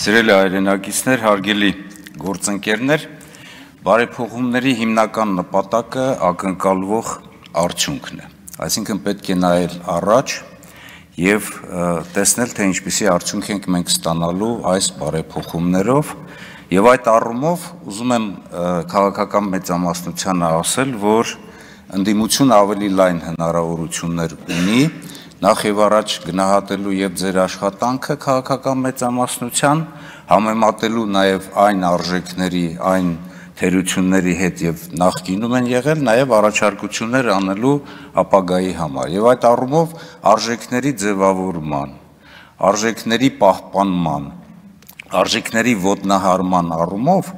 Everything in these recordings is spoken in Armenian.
Սիրելի հայրենակիցներ, հարգելի գործընկերներ, բարեփոխումների հիմնական նպատակը ակնկալվող արդյունքն է, այսինքն պետք է նայել առաջ եւ տեսնել, թե ինչպիսի արդյունք ենք մենք ստանալու այս բարեփոխումներով եւ այդ առումով ուզում եմ քաղաքական մեծամասնությանը ասել, որ ընդդիմությունը ավելի լայն հնարավորություններ ունի նախ եւ առաջ գնահատելու եւ ձեր աշխատանքը քաղաքական մեծամասնության, համեմատելու նաեւ այն արժեքների, այն թերությունների հետ եւ նախկինում են եղել, նաեւ առաջարկություններ անելու ապագայի համար։ Եվ այդ առումով արժեքների ձևավորման, արժեքների պահպանման, արժեքների ոտնահարման առումով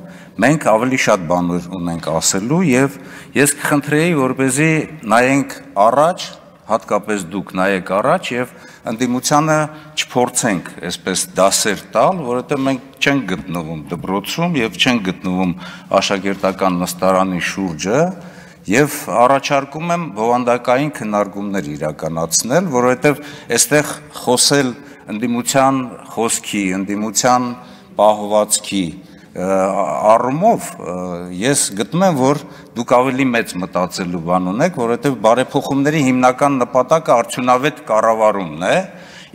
մենք ավելի շատ բաներ ունենք ասելու եւ ես կխնդրեի, որպեսզի նայենք առաջ, հատկապես դուք նայեք առաջ եւ ընդդիմությանը չփորձենք այսպես դասեր տալ, որովհետեւ մենք չենք գտնվում դպրոցում եւ չենք գտնվում աշակերտական նստարանի շուրջը եւ առաջարկում եմ բովանդակային քննարկումներ իրականացնել, որովհետեւ այստեղ խոսել ընդդիմության խոսքի, ընդդիմության պահվածքի առումով ես գտնում եմ, որ դուք ավելի մեծ մտածելու բան ունեք, որովհետև բարեփոխումների հիմնական նպատակը արդյունավետ կառավարումն է,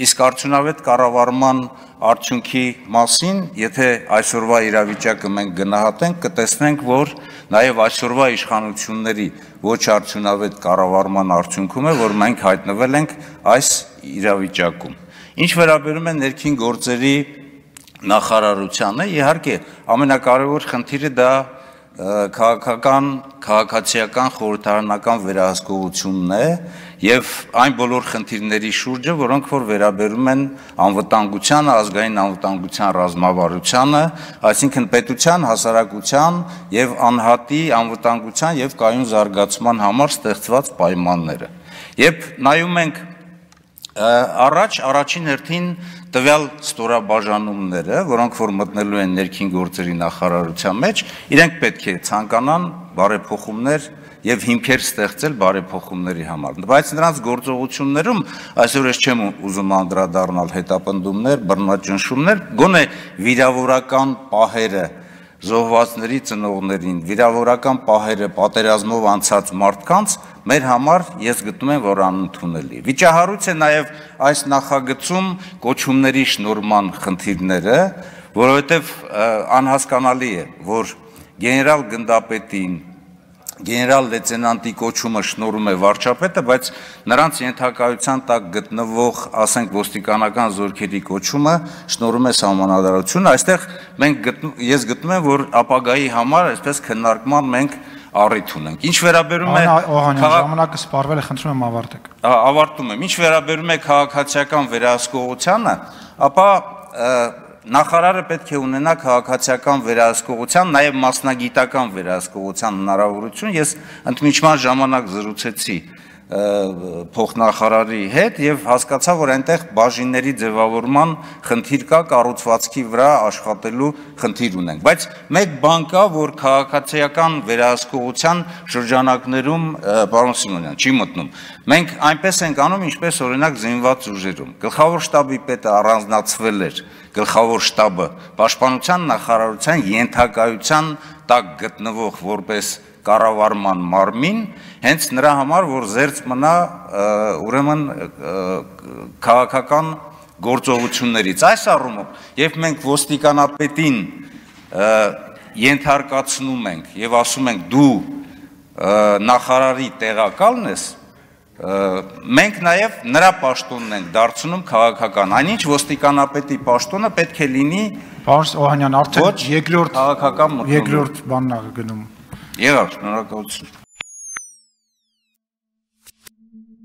իսկ արդյունավետ կառավարման արդյունքի մասին, եթե այսօրվա իրավիճակը մենք գնահատենք, կտեսնենք, որ նաև այսօրվա իշխանությունների ոչ արդյունավետ կառավարման արդյունքում է, որ մենք հայտնվել ենք այս իրավիճակում։ Ինչ վերաբերում է ներքին գործերի նախարարությանը, իհարկե, ամենակարևոր խնդիրը դա քաղաքացիական խորհրդարանական վերահսկողությունն է եւ այն բոլոր խնդիրների շուրջը, որոնք որ վերաբերում են անվտանգությանը, ազգային անվտանգության ռազմավարությանը, այսինքն պետության, հասարակության եւ անհատի անվտանգության եւ կայուն զարգացման համար ստեղծված պայմանները։ Երբ նայում ենք առաջին հերթին տվյալ ստորաբաժանումները, որոնք որ մտնելու են ներքին գործերի նախարարության մեջ, իրենք պետք է ցանկանան բարեփոխումներ եւ հիմքեր ստեղծել բարեփոխումների համար։ Բայց նրանց գործողություններում այսօր ես չեմ ուզում անդրադառնալ հետապնդումներ, բռնաճնշումներ, գոնե վիրավորական պահերը զոհվածների ծնողներին, վիրավորական պահերը պատերազմով անցած մարդկանց մեր համար ես գտնում եմ, որ անընդունելի։ Վիճահարույց է նաև այս նախագծում կոչումների շնորհման խնդիրները, որովհետև անհասկանալի է, որ գեներալ գնդապետին, գեներալ լեյտենանտի կոչումը շնորհում է վարչապետը, բայց նրանց ենթակայության տակ գտնվող, ասենք, ոստիկանական զորքերի կոչումը շնորհում է սահմանադրությունը։ Այստեղ ես գտնում եմ, որ ապագայի համար այսպես քննարկման մենք առիթ ունենք։ Ինչ վերաբերում է ժամանակը սպառվել է, խնդրում եմ ավարտեք։ Ավարտում եմ։ Ինչ վերաբերում է քաղաքացիական վերահսկողությանը, ապա նախարարը պետք է ունենա քաղաքացիական վերահսկողության, նաև մասնագիտական վերահսկողության հնարավորություն։ Ես ընդմիջման ժամանակ զրուցեցի փոխնախարարի հետ եւ հասկացա, որ այնտեղ բաժինների ձևավորման խնդիր կա, կառուցվածքի վրա աշխատելու խնդիր ունենք։ Բայց մեկ բան կա, որ քաղաքացիական վերահսկողության շրջանակներում, պարոն Սիմոնյան, չի մտնում։ Մենք այնպես ենք անում, ինչպես օրինակ զինված ուժերում։ Գլխավոր շտաբի պետը առանձնացվել էր, գլխավոր շտաբը պաշտպանության նախարարության ենթակայության տակ գտնվող որպես կառավարման մարմին, հենց նրա համար, որ զերծ մնա ուրեմն քաղաքական գործողություններից։ Այս առումով, երբ մենք ոստիկանապետին ենթարկացնում ենք եւ ասում ենք դու նախարարի տեղակալն ես, մենք նաև նրա պաշտոնն ենք դարձնում քաղաքական, այնինչ ոստիկանապետի պաշտոնը պետք է լինի Պարոն Օհանյան, արդեն երկրորդ քաղաքական երկրորդ բանն է գնում։ Եղավ, շնորհակալություն։